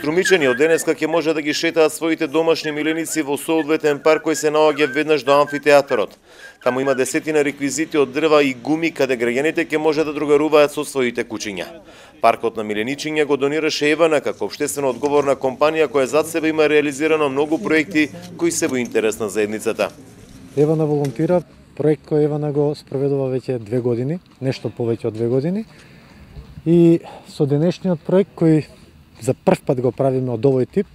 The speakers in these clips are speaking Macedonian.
Струмичани од денеска ќе може да ги шетаат своите домашни миленици во соодветен парк кој се наоѓа веднаш до амфитеатарот. Таму има десетина реквизити од дрва и гуми каде граѓаните ќе може да другаруваат со своите кучиња. Паркот на миленичиња го донираше Евана како општествено одговорна компанија која зад себе има реализирано многу проекти кои се во интерес на заедницата. Евана волонтира, проект кој Евана го спроведува веќе 2 години, нешто повеќе од 2 години. И со денешниот проект кој за прв пат го правиме од овој тип,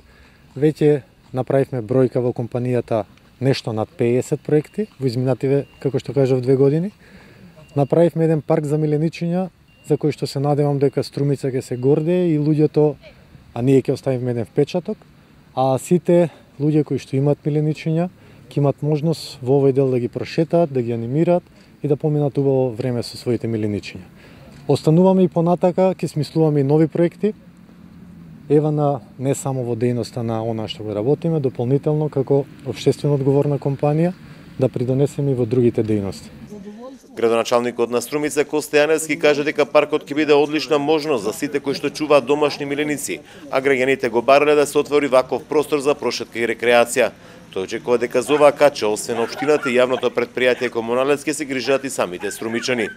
веќе направивме бројка во компанијата нешто над 50 проекти во изминативе, како што кажав, 2 години. Направивме еден парк за миленичиња за кој што се надевам дека Струмица ќе се гордее и луѓето, а ние ќе оставиме еден впечаток, а сите луѓе кои што имаат миленичиња ќе имат можност во овој дел да ги прошетаат, да ги анимираат и да поминат убаво време со своите миленичиња. Остануваме и понатака, ќе смислуваме и нови проекти. Евана не само во дејноста на она што го работиме, дополнително како општествено одговорна компанија да придонесеме и во другите дејности. Градоначалникот на Струмица Косте Јаневски кажа дека паркот ќе биде одлична можност за сите кои што чуваат домашни миленици, а граѓаните го барале да се отвори ваков простор за прошетка и рекреација. Тој очекува дека за оваа кача, освен општината и јавното претпријатие Комуналец, ќе се грижат и самите струмичани.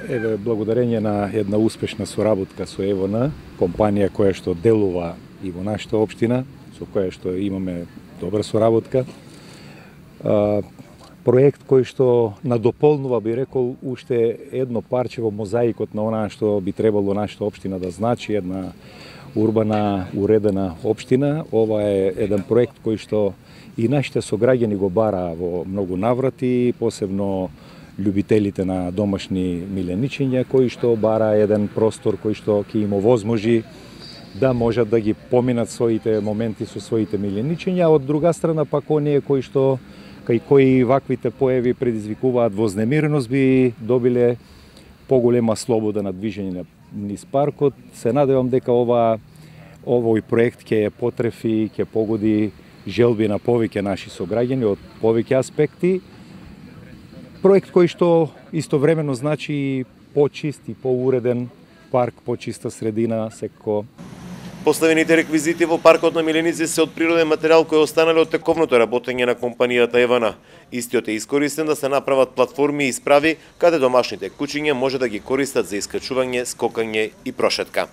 Еве, благодарение на една успешна соработка со Евана, компанија која што делува и во нашата општина, со која што имаме добра соработка, проект кој што надополнува, би рекол, уште едно парче во мозаикот на онаа што би требало нашата општина да значи, една урбана, уредена општина. Ова е еден проект кој што и нашите сограѓани го бара во многу наврати, посебно љубителите на домашни миленичиња, кои што бара еден простор кој што ќе им овозможи да можат да ги поминат своите моменти со своите миленичиња, од друга страна пак оние кои што кај кои ваквите појави предизвикуваат вознемиреност би добиле поголема слобода на движење низ паркот. Се надевам дека овој проект ќе потрефи, ќе погоди желби на повеќе наши сограѓани од повеќе аспекти. Проект кој што истовремено значи и почист и поуреден парк, почиста средина, секако. Поставените реквизити во паркот на миленици се од природен материјал кој останале од тековното работење на компанијата Евана. Истиот е искористен да се направат платформи и исправи каде домашните кучиња може да ги користат за искачување, скокање и прошетка.